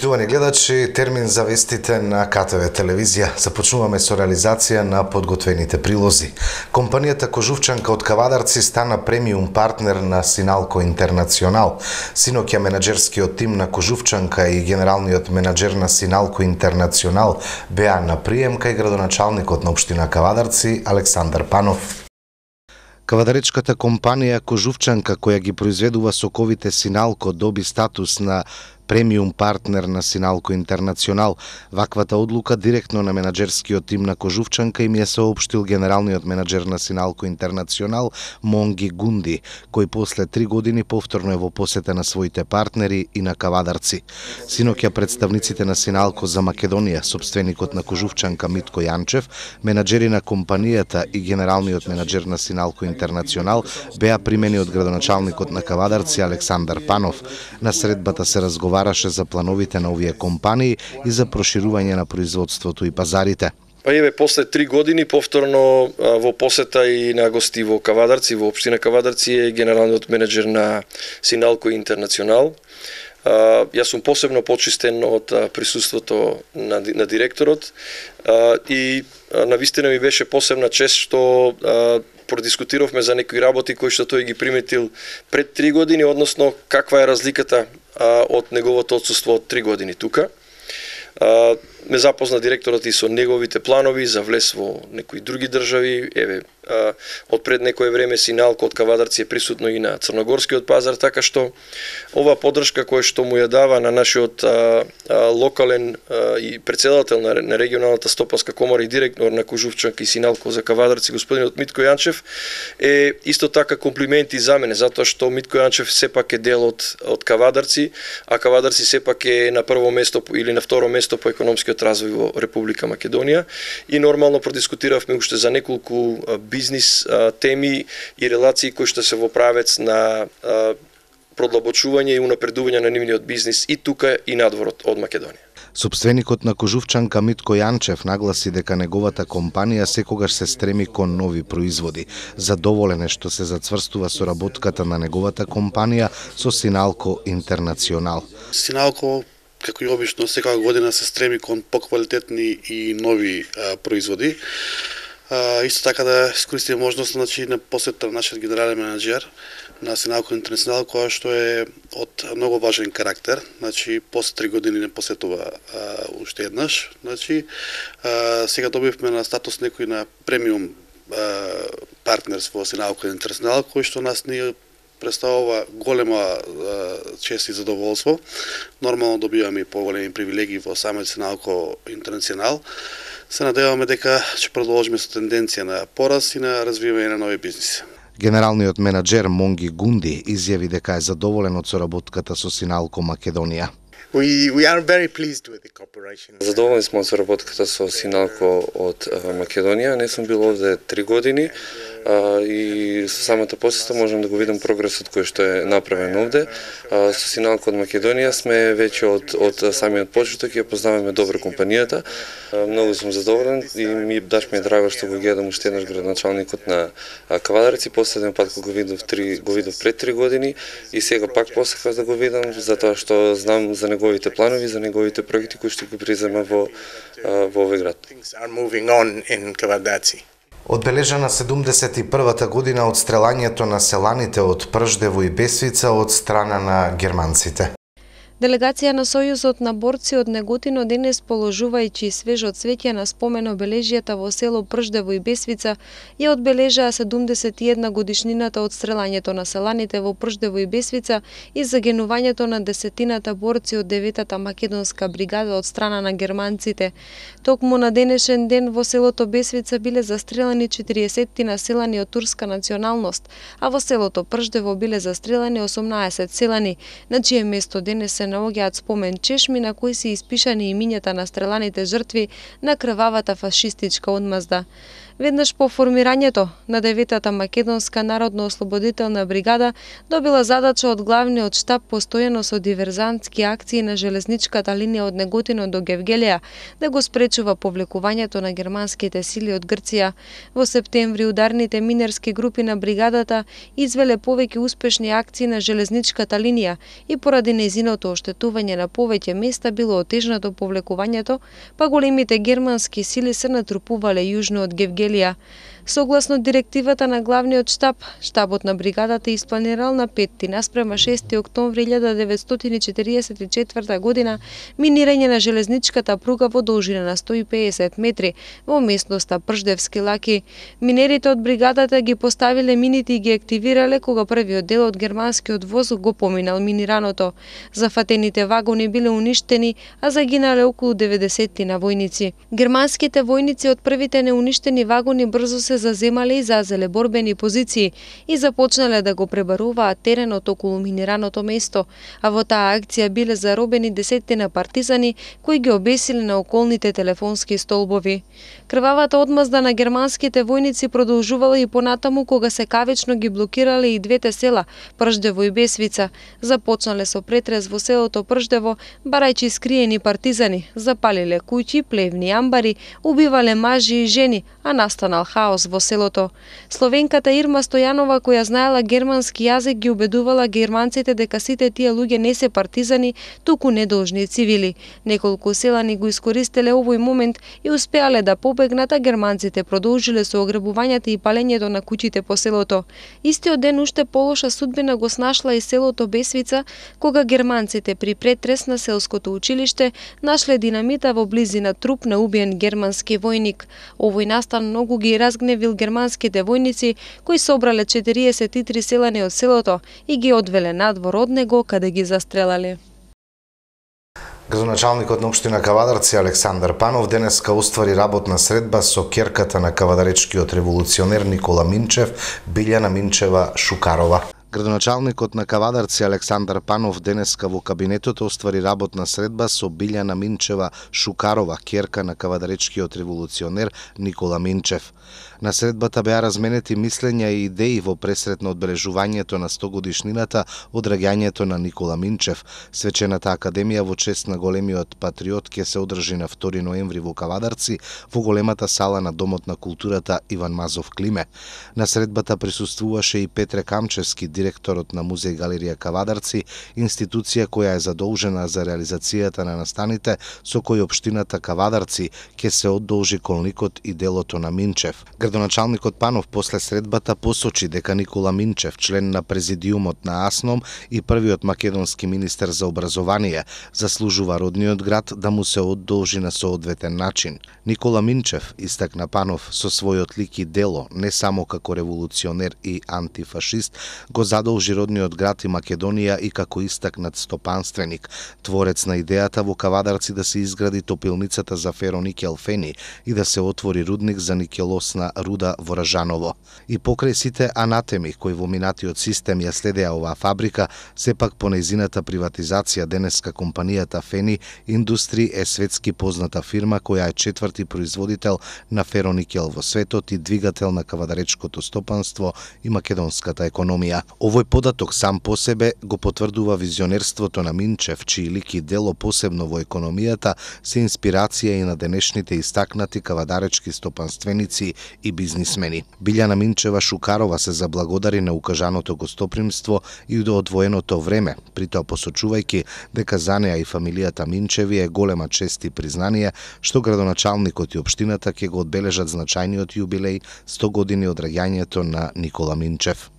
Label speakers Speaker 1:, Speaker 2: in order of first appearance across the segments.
Speaker 1: Почитувани гледачи, термин за вестите на КТВ телевизија. Започнуваме со реализација на подготвените прилози. Компанијата Кожувчанка од Кавадарци стана премиум партнер на Синалко Интернационал. Синоќа менаџерскиот тим на Кожувчанка и генералниот менаџер на Синалко Интернационал беа на прием кај градоначалникот на општина Кавадарци Александар Панов. Кавадаречката компанија Кожувчанка, која ги произведува соковите Синалко, доби статус на премиум партнер на Синалко Интернационал. Ваквата одлука директно на менаџерскиот тим на Кожувчанка им ја соопштил генералниот менаџер на Синалко Интернационал Монги Гунди, кој после 3 години повторно е во посета на своите партнери и на Кавадарци. Синоќа представниците на Синалко за Македонија, сопственикот на Кожувчанка Митко Јанчев, менаџери на компанијата и генералниот менаџер на Синалко Интернационал беа примени од градоначалникот на Кавадарци Александар Панов. На средбата се разговараше за плановите на овие компании и за проширување на производството и пазарите.
Speaker 2: Па еве, после 3 години повторно во посета и на гости во Кавадарци, во општина Кавадарци е генералниот менаџер на Синалко Интернационал. Јас сум посебно почистен од присуството на директорот и навистина ми беше посебна чест што продискутиравме за некои работи кои што тој ги приметил пред 3 години, односно каква е разликата од неговото отсуство од 3 години тука. Ме запозна директорот и со неговите планови за влез во некои други држави. Еве, од пред некое време Синалко од Кавадарци е присутно и на црногорскиот пазар, така што ова поддршка која што му ја дава на нашиот локален и претседател на регионалната стопанска комора и директор на Кожувчанка и Синалко за Кавадарци, господинот Митко Јанчев, е исто така комплименти за мене, затоа што Митко Јанчев сепак е дел од Кавадарци, а Кавадарци сепак е на прво место или на второ место по економскиот развој во Република Македонија и нормално продискутиравме уште за неколку бизнис теми и релации кои што се во правец на продлабочување и унапредување на нивниот бизнис и тука и надворот од Македонија.
Speaker 1: Сопственикот на Кожувчанка Митко Јанчев нагласи дека неговата компанија секогаш се стреми кон нови производи. Задоволен е што се зацврстува соработката на неговата компанија со Синалко Интернационал.
Speaker 3: Синалко, како и обично, секоја година се стреми кон поквалитетни и нови производи. Исто така да искористиме можност на посета на нашиот генерален менаџер на Синалко Интернационал, која што е од многу важен карактер. После 3 години не посетува уште еднаш. Сега добивме на статус некој на премиум партнерство во Синалко Интернационал, кој што нас ни представува голема чест и задоволство. Нормално добиваме и поголеми привилегии во самиот Синалко Интернационал. Се надеваме дека ќе продолжиме со тенденција на пораст и на развивање на нови бизниси.
Speaker 1: Генералниот менаџер Монги Гунди изјави дека е задоволен од соработката со Синалко Македонија.
Speaker 2: Задоволни сме од соработката со Синалко од Македонија. Не сум бил овде 3 години и со самата посета можам да го видам прогресот кој што е направен овде. Со Синалко од Македонија сме веќе од самиот почеток и ја познаваме добро компанијата. Многу сум задоволен и ми е драго што го гледам уште еднаш градоначалникот на Кавадарци. Последен пат го видов пред 3 години и сега пак посекав да го видам, затоа што знам за неговите планови, за неговите проекти кои што ги презема во овој град.
Speaker 1: Одбележана 71-та година од стрелањето на селаните од Прждево и Бесвица од страна на германците.
Speaker 4: Делегација на Сојузот на борци од Неготино денес, положувајќи свежо цвеќе на спомен обележјата во село Прждево и Бесвица, ја одбележаа 71 годишнината од стрелањето на селаните во Прждево и Бесвица и загинувањето на десетината борци од 9-та македонска бригада од страна на германците. Токму на денешен ден во селото Бесвица биле застрелани 40 населани од турска националност, а во селото Прждево биле застрелани 18 селани, на чие место денес се наоѓаат спомен чешми на кои се испишани имињата на стреланите жртви на крвавата фашистичка одмазда. Веднаш по формирањето на 9-та македонска народно-ослободителна бригада добила задача од главниот штаб постојано со диверзантски акции на железничката линија од Неготино до Гевгелија да го спречува повлекувањето на германските сили од Грција. Во септември ударните минерски групи на бригадата извеле повеќе успешни акции на железничката линија и поради нејзиното оштетување на повеќе места било отежнато повлекувањето, па големите германски сили се натрупувале јужно од Гевгелија. Согласно директивата на главниот штаб, штабот на бригадата испланирал на 5 наспрема 6 октомври 1944 година минирање на железничката пруга во должина на 150 метри во местноста Прждевски лаки. Минерите од бригадата ги поставиле мините и ги активирале кога првиот дел од германскиот воз го поминал минираното. Зафатените вагони биле уништени, а загинале околу 90 на војници. Германските војници од првите неуништени вагони брзо се заземале и зазеле борбени позиции и започнале да го пребаруваат теренот околу минираното место, а во таа акција биле заробени десетина партизани кои ги обесиле на околните телефонски столбови. Крвавата одмазда на германските војници продолжувала и понатаму кога се кавично ги блокирале и двете села Прждево и Бесвица. Започнале со претрес во селото Прждево, барајќи скриени партизани, запалиле куќи, плевни амбари, убивале мажи и жени, а настанал хаос во селото. Словенката Ирма Стојанова, која знаела германски јазик, ги убедувала германците дека сите тие луѓе не се партизани, туку недолжни цивили. Неколку селани го искористеле овој момент и успеале да побегнат, а германците продолжиле со ограбувањата и палењето на куќите по селото. Истиот ден уште полоша судбина го снашла и селото Бесвица, кога германците при претрес на селското училиште нашле динамита во близина труп на убиен германски војник. Овој настан многу ги разгневил германските војници, кои собрале 43 селани од селото и ги одвеле надвор од него, каде ги застрелале.
Speaker 1: Градоначалникот на општина Кавадарци Александар Панов денеска уствари работна средба со ќерката на кавадаречкиот револуционер Никола Минчев, Билјана Минчева Шукарова. Градоначалникот на Кавадарци Александар Панов денеска во кабинетот оствари работна средба со Билјана Минчева Шукарова, ќерка на кавадаречкиот револуционер Никола Минчев. На средбата беа разменети мислења и идеи во пресрет на одбележувањето на 100 годишнината од раѓањето на Никола Минчев. Свечената академија во чест на големиот патриот ќе се одржи на 2 ноември во Кавадарци во големата сала на Домот на културата Иван Мазов Климе. На средбата присуствуваше и Петре Камчевски, директорот на Музеј Галерија Кавадарци, институција која е задолжена за реализацијата на настаните со кои општината Кавадарци ќе се одолжи колникот и делото на Минчев. Градоначалникот Панов после средбата посочи дека Никола Минчев, член на президиумот на АСНОМ и првиот македонски министер за образование, заслужува родниот град да му се одолжи на соодветен начин. Никола Минчев, истакна Панов, со својот лик и дело, не само како револуционер и антифашист, го задолжи родниот град и Македонија и како истакнат стопанственик, творец на идејата во Кавадарци да се изгради топилницата за фероникел Фени и да се отвори рудник за никелосна руда во Ражаново. И покрај сите анатеми кои во минатиот систем ја следеа оваа фабрика, сепак по нејзината приватизација денеска компанијата Фени Индустри е светски позната фирма која е четврти производител на фероникел во светот и двигател на кавадаречкото стопанство и македонската економија. Овој податок сам по себе го потврдува визионерството на Минчев, чии лик и дело посебно во економијата се инспирација и на денешните истакнати кавадаречки стопанственици и бизнисмени. Билјана Минчева Шукарова се заблагодари на укажаното гостопримство и до одвоеното време, притоа посочувајќи дека за неа и фамилијата Минчеви е голема чест и признание што градоначалникот и општината ќе го одбележат значајниот јубилеј 100 години од раѓањето на Никола Минчев.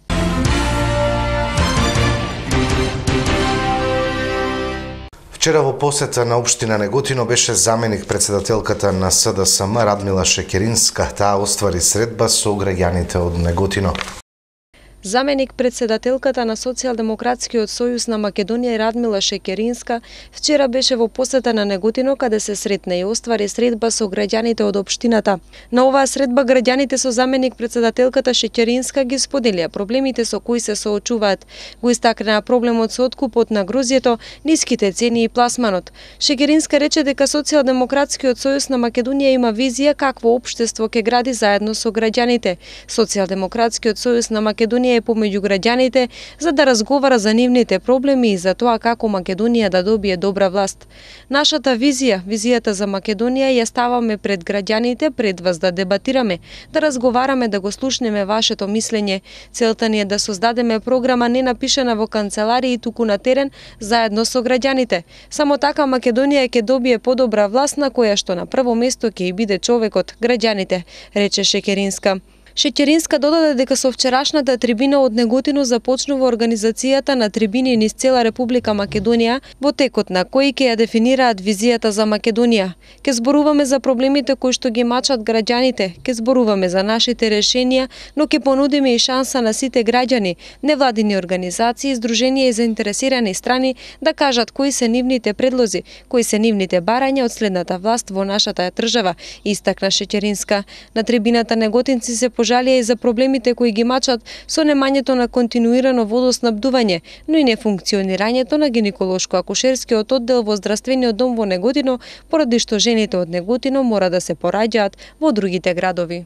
Speaker 1: Вчера во посета на општина Неготино беше заменик председателката на СДСМ Радмила Шекеринска. Таа оствари средба со граѓаните од Неготино.
Speaker 4: Заменик председателката на Социјалдемократскиот сојуз на Македонија Радмила Шекеринска вчера беше во посета на Неготино, каде се сретна и оствари средба со граѓаните од општината. На оваа средба граѓаните со заменик председателката Шекеринска ги споделија проблемите со кои се соочуваат. Го истакнаа проблемот со откупот на грозјето, ниските цени и пласманот. Шекеринска рече дека Социјалдемократскиот сојуз на Македонија има визија какво општество ќе гради заедно со граѓаните. Социјалдемократскиот сојуз на Македонија е помеѓу граѓаните за да разговара за нивните проблеми и за тоа како Македонија да добие добра власт. Нашата визија, визијата за Македонија ја ставаме пред граѓаните, пред вас да дебатираме, да разговараме, да го слушнеме вашето мислење. Целта ни е да создадеме програма не напишана во канцеларии, туку на терен, заедно со граѓаните. Само така Македонија ќе добие подобра власт на која што на прво место ќе и биде човекот, граѓаните, рече Шекеринска. Шекеринска додаде дека со вчерашната трибина од Неготино започнува организацијата на трибини низ цела Република Македонија, во текот на кои ќе ја дефинираат визијата за Македонија. Ке зборуваме за проблемите кои што ги мачат граѓаните, ке зборуваме за нашите решенија, но ке понудиме и шанса на сите граѓани, невладини организации, здруженија и заинтересирани страни да кажат кои се нивните предлози, кои се нивните барања од следната власт во нашата држава, истакна Шекеринска. На трибината неготинци се пожалија и за проблемите кои ги мачат со немањето на континуирано водоснабдување, но и нефункционирањето на гинеколошко-акушерскиот оддел во здравствениот дом во Неготино, поради што жените од Неготино мора да се пораѓаат во другите градови.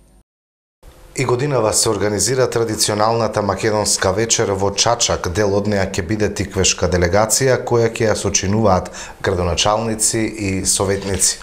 Speaker 1: И годинава се организира традиционалната македонска вечер во Чачак. Дел од неа ќе биде тиквешка делегација која ќе ја сочинуваат градоначалници и советници.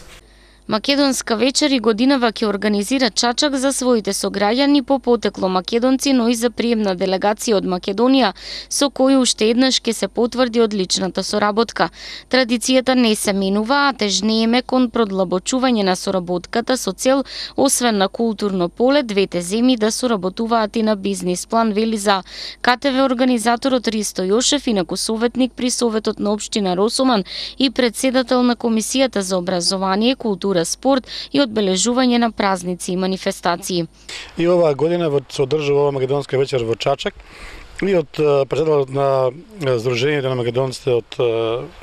Speaker 5: Македонска вечер и годинава ќе организира Чачак за своите сограѓани по потекло македонци, но и за приемна делегација од Македонија, со кој уште еднаш ќе се потврди одличната соработка. Традицијата не се менува, а тежнееме кон продлабочување на соработката со цел, освен на културно поле, двете земји да соработуваат и на бизнис план, вели за КТВ организаторот Ристо Јошев, инаку советник при Советот на општина Росоман и председател на Комисијата за образование, култура, спорт и одбележување на празници и манифестации.
Speaker 6: И оваа година се одржува ова македонска вечер во Чачак и од председателот на Сдруженијето на македонците од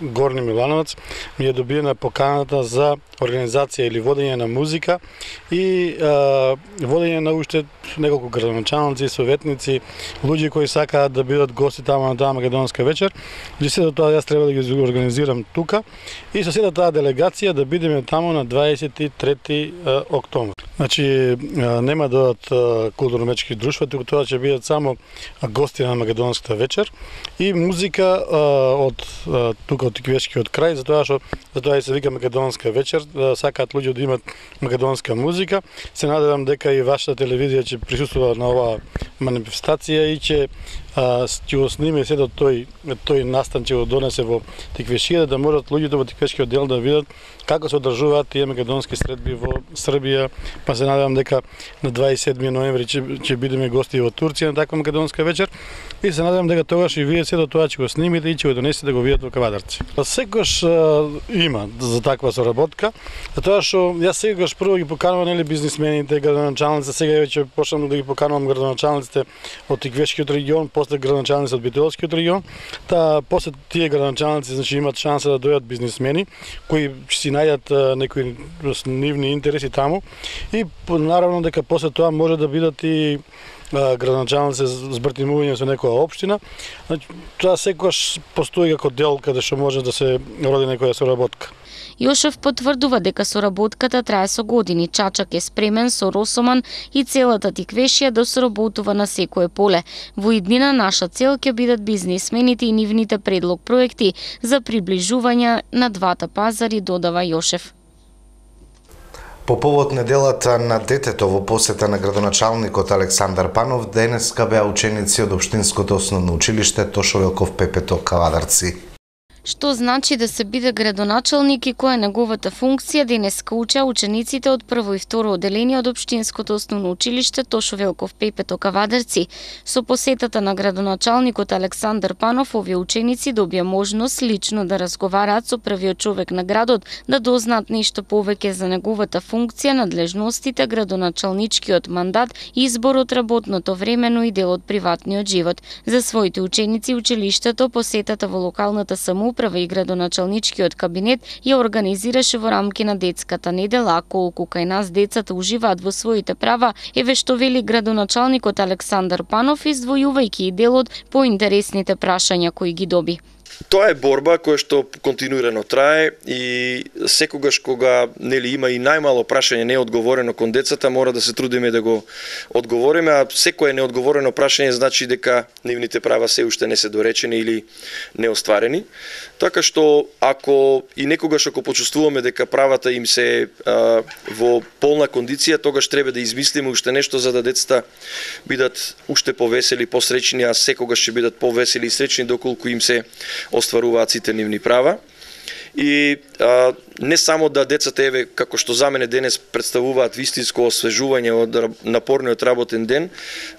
Speaker 6: Горни Милановац ми е добиена поканата за организација или водење на музика и водење на уште неколку градоначалници, советници, луѓе кои сакаат да бидат гости таму на таа македонска вечер. И сето тоа јас треба да ги организирам тука и со сета таа делегација да бидеме таму на 23 октомври. Значи нема да одат културно-мечки друштва, туку тоа ќе бидат само гости на македонската вечер и музика од тука од Тиквешкиот крај, затоа и се вика македонска вечер. Сакаат луѓе да имат македонска музика. Се надевам дека и вашата телевизија ќе присуствува на оваа манифестација и ќе го сниме сето тој настан, ќе го донесе во Тиквешија, да можат луѓето во Тиквешкиот дел да видат како се одржуваат тие македонски средби во Србија, па се надевам дека на 27 ноември ќе бидеме гости во Турција на таква македонска вечер и се надевам дека тогаш и вие сето тоа ќе го снимите и ќе го донесете да го видат во Кавадарци. Секогаш има за таква соработка, затоа што јас секогаш прво ги поканувам бизнисмените, градоначалниците, сега веќе почнам да ги поканувам градоначалниците од Тиквешкиот регион, после градоначалници од Битолскиот регион, после тие градоначалници значи имат шанса да дојдат бизнисмени кои ќе си најдат некои нивни интереси таму и наравно дека после тоа може да бидат и градоначалници збртимување со некоја општина. Значи, тоа секогаш постои како дел каде што може да се роди некоја соработка.
Speaker 5: Јошев потврдува дека соработката трае со години. Чачак е спремен со Росоман и целата Тиквешија да соработува на секое поле. Во иднина наша цел ќе бидат бизнисмените и нивните предлог проекти за приближување на двата пазари, додава Јошев.
Speaker 1: По повод неделата на детето во посета на градоначалникот Александар Панов, денеска беа ученици од Општинското основно училиште Тошо Велков Пепето Кавадарци.
Speaker 5: Што значи да се биде градоначалник и која е неговата функција, денеска учеа учениците од прво и второ одделение од Општинското основно училиште Тошо Велков Пепето Кавадарци. Со посетата на градоначалникот Александар Панов, овие ученици добија можност лично да разговараат со првиот човек на градот, да дознаат нешто повеќе за неговата функција, надлежностите, градоначалничкиот мандат, изборот, работното време, но и дел од приватниот живот. За своите ученици училиштето посетата во локалната самоуправа и градоначалничкиот кабинет ја организираше во рамки на детската недела, а колку кај нас децата уживаат во своите права, еве што вели градоначалникот Александар Панов, издвојувајќи и делот по интересните прашања кои ги доби.
Speaker 2: Тоа е борба која што континуирано трае и секогаш кога има и најмало прашање неодговорено кон децата, мора да се трудиме да го одговориме, а секое неодговорено прашање значи дека нивните права се уште не се доречени или неостварени. Така што ако и некогаш ако почувствуваме дека правата им се во полна кондиција, тогаш треба да измислиме уште нешто за да децата бидат уште повесели, посреќни, а секогаш ќе бидат повесели и среќни доколку им се остваруваат сите нивни права. И не само да децата, еве, како што за мене денес представуваат вистинско освежување од напорниот работен ден,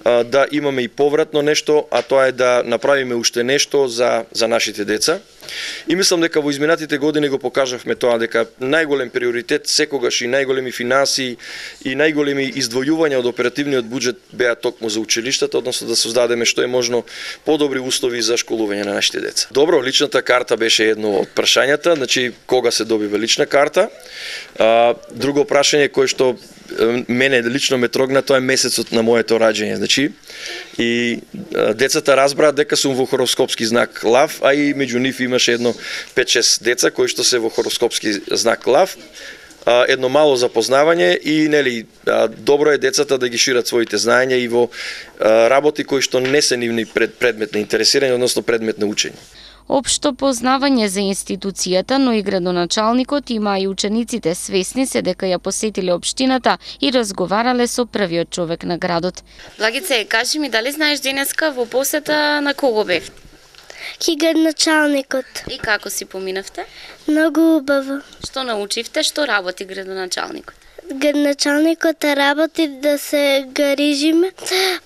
Speaker 2: да имаме и повратно нешто, а тоа е да направиме уште нешто за нашите деца. И мислам дека во изминатите години го покажавме тоа, дека најголем приоритет секогаш и најголеми финанси и најголеми издвојувања од оперативниот буџет беа токму за училиштата, односно да создадеме што е можно подобри услови за школување на нашите деца. Добро, личната карта беше едно од прашањата, значи кога се добива лична карта. Друго прашање кое што мене лично ме трогна, тоа е месецот на моето раѓање, значи. И децата разбраат дека сум во хороскопски знак Лав, а и меѓу нив имаше едно 5-6 деца кои што се во хороскопски знак Лав. Едно мало запознавање и добро е децата да ги шират своите знаења и во работи кои што не се нивни предмет на интересирање, односно предмет на учење.
Speaker 5: Општо познавање за институцијата, но и градоначалникот има и учениците свесни се дека ја посетиле општината и разговарале со првиот човек на градот. Благице, кажи ми, дали знаеш денеска во посета на кого бев?
Speaker 7: Ки градоначалникот.
Speaker 5: И како си поминавте?
Speaker 7: Многу убаво.
Speaker 5: Што научивте, што работи градоначалникот?
Speaker 7: Градоначалникот работи да се грижиме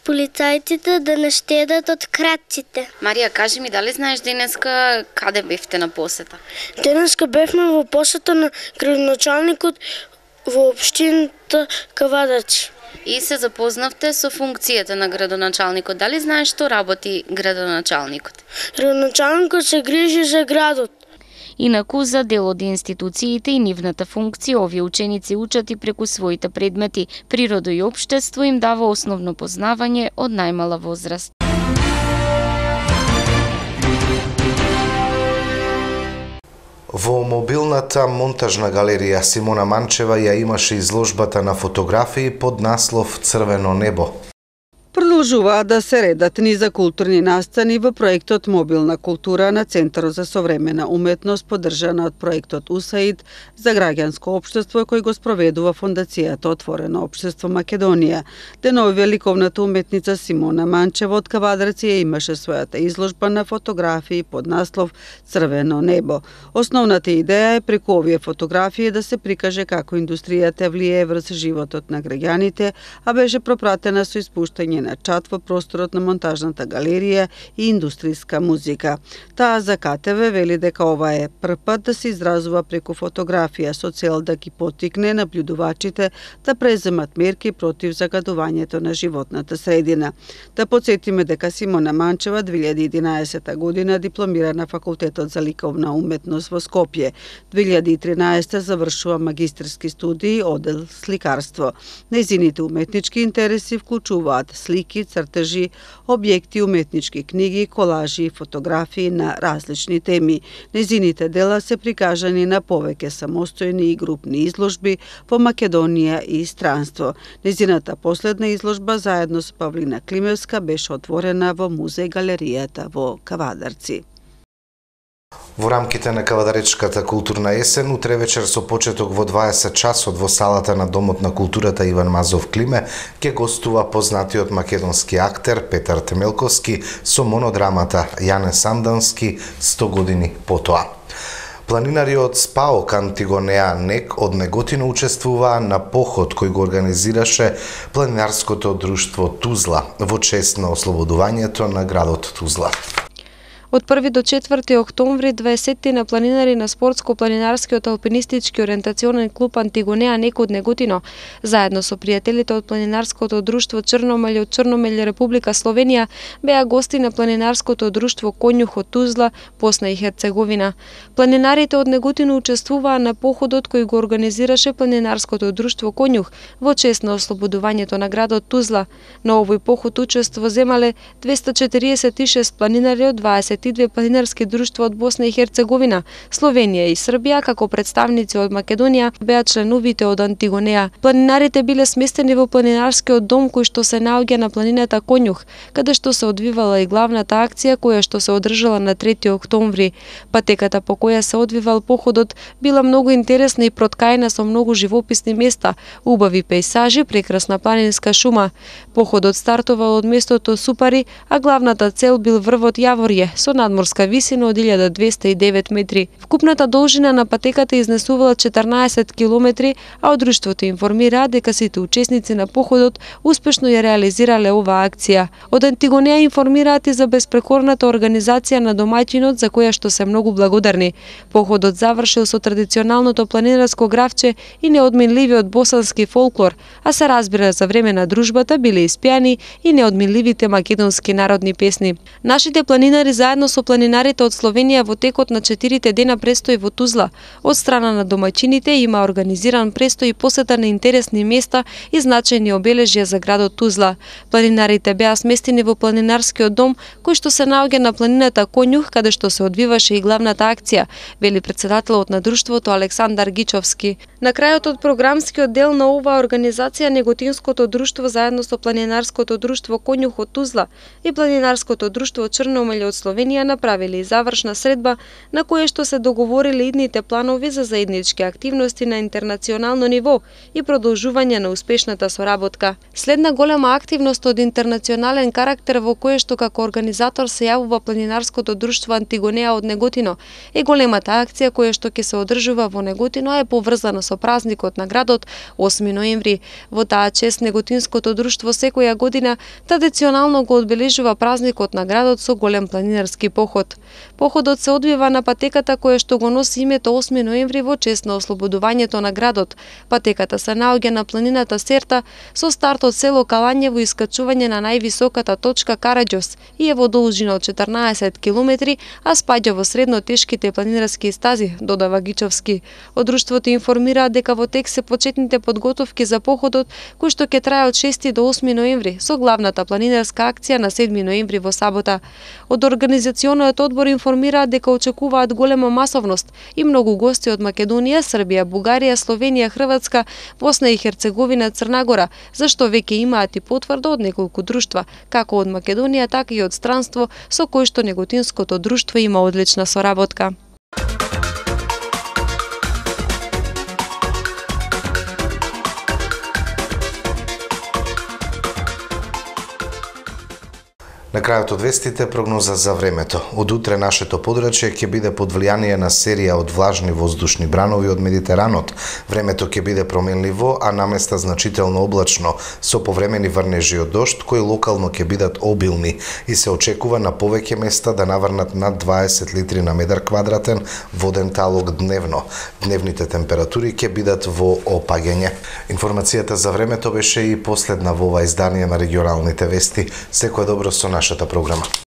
Speaker 7: полицајците да не штедат од кратците.
Speaker 5: Марија, кажи ми, дали знаеш денеска каде бевте на посета?
Speaker 7: Денеска бевме во посета на градоначалникот во општината Кавадарци.
Speaker 5: И се запознавте со функцијата на градоначалникот. Дали знаеш што работи градоначалникот?
Speaker 7: Градоначалникот се грижи за градот.
Speaker 5: Инаку за дел од институциите и нивната функција, овие ученици учат и преку своите предмети. Природа и општество им дава основно познавање од најмала возраст.
Speaker 1: Во мобилната монтажна галерија Симона Манчева ја имаше изложбата на фотографии под наслов Црвено небо.
Speaker 8: Продолжуваат да се редат низа културни настани во проектот Мобилна култура на Центарот за современа уметност, поддржана од проектот УСАИД за граѓанско општество кој го спроведува Фондацијата Отворено општество Македонија. Денови ликовната уметница Симона Манчева од Кавадарци имаше својата изложба на фотографии под наслов Црвено небо. Основната идеја е преку овие фотографии да се прикаже како индустријата влијае врз животот на граѓаните, а беше пропратена со испуштање на чат во просторот на монтажната галерија и индустријска музика. Таа за КТВ вели дека ова е прв пат да се изразува преку фотографија со цел да ги поттикне наблюдувачите да преземат мерки против загадувањето на животната средина. Да подсетиме дека Симона Манчева 2011 година дипломира на Факултетот за ликовна уметност во Скопје. 2013 завршува магистерски студии оддел сликарство. Нејзините уметнички интереси вклучуваат слики, цртежи, објекти, уметнички книги, колажи и фотографии на различни теми. Нејзините дела се прикажани на повеќе самостојни и групни изложби во Македонија и странство. Нејзината последна изложба заедно со Павлина Климевска беше отворена во музеј галеријата во Кавадарци.
Speaker 1: Во рамките на Кавадаречката културна есен, утре вечер со почеток во 20 часот во салата на Домот на културата Иван Мазов Климе ќе гостува познатиот македонски актер Петар Темелковски со монодрамата Јане Сандански 100 години потоа. Планинариот СПАОК Антигонеа НЕК од Неготино учествуваа на поход кој го организираше планинарското друштво Тузла во чест на ослободувањето на градот Тузла.
Speaker 4: Од 1 до 4 октомври 20 на планинари на спортско-планинарскиот алпинистички ориентационен клуб Антигонеа НЕК од Неготино, заедно со пријателите од планинарското друштво Черномелј од Черномелј, Република Словенија, беа гости на планинарското друштво Конјух од Тузла, Босна и Херцеговина. Планинарите од Неготино учествуваа на походот кој го организираше планинарското друштво Конјух во чест на ослободувањето на градот Тузла. На овој поход учество земале 246 планинари од 22 планинарски друштва од Босна и Херцеговина, Словенија и Србија, како представници од Македонија беа членовите од Антигонеа. Планинарите биле сместени во планинарскиот дом кој што се наоѓа на планината Конјух, каде што се одвивала и главната акција која што се одржала на 3 октомври. Патеката по која се одвивал походот била многу интересна и проткаена со многу живописни места, убави пејсажи, прекрасна планинска шума. Походот стартувал од местото Супари, а главната цел бил врвот Јаворје со надморска висина од 1209 метри. Вкупната должина на патеката изнесувала 14 километри, а од друштвото информираа дека сите учесници на походот успешно ја реализирале оваа акција. Од Антигонеа информираат и за безпрекорната организација на домаќинот за која што се многу благодарни. Походот завршил со традиционалното планинарско гравче и неодменливиот босански фолклор, а се разбира за време на дружбата биле испеани и неодменливите македонски народни песни. Нашите планинари заедно со планинарите од Словенија во текот на 4 дена престој во Тузла. Од страна на домаќините има организиран престој и посета на интересни места и значајни обележја за градот Тузла. Планинарите беа сместени во планинарскиот дом кој што се наоѓа на планината Конјух, каде што се одвиваше и главната акција, вели претседателот на друштвото Александар Гичовски. На крајот од програмскиот дел на оваа организација Неготинското друштво заедно со планинарското друштво Конјух од Тузла и планинарското друштво Черномелј од Словенија направиле и завршна средба на која што се договориле идните планови за заеднички активности на интернационално ниво и продолжување на успешната соработка. Следна голема активност од интернационален карактер во која што како организатор се јавува планинарското друштво Антигонеа од Неготино е големата акција која што ќе се одржува во Неготино, а е поврзана со празникот на градот 8 ноември. Во таа чест Неготинското друштво секоја година традиционално го одбележува празникот на градот со голем планинарски поход. Походот се одвива на патеката која што го носи името 8 ноември во чест на ослободувањето на градот. Патеката се наоѓа на планината Серта со старт од село Калањево и искачување на највисоката точка Караѓос и е во должина од 14 километри, а спаѓа во средно тешките планинарски стази, додава Гичовски. Од друштвото информираат дека во тек се почетните подготовки за походот кој што ќе трае од 6 до 8 ноември со главната планинарска акција на 7 ноември во сабота. Од организациониот одбор информираат дека очекуваат голема масовност и многу гости од Македонија, Србија, Бугарија, Словенија, Хрватска, Босна и Херцеговина, Црна Гора, зашто веќе имаат и потврда од неколку друштва, како од Македонија, така и од странство со кој што Неготинското друштво има одлична соработка.
Speaker 1: На крајот од вестите прогноза за времето. Од утре нашето подрачје ќе биде под влијание на серија од влажни воздушни бранови од Медитеранот. Времето ќе биде променливо, а наместа значително облачно, со повремени врнежи од дожд, кои локално ќе бидат обилни и се очекува на повеќе места да наврнат над 20 литри на метар квадратен воден талог дневно. Дневните температури ќе бидат во опаѓање. Информацијата за времето беше и последна во ова издание на регионалните вести. Секое добро со нашата програма.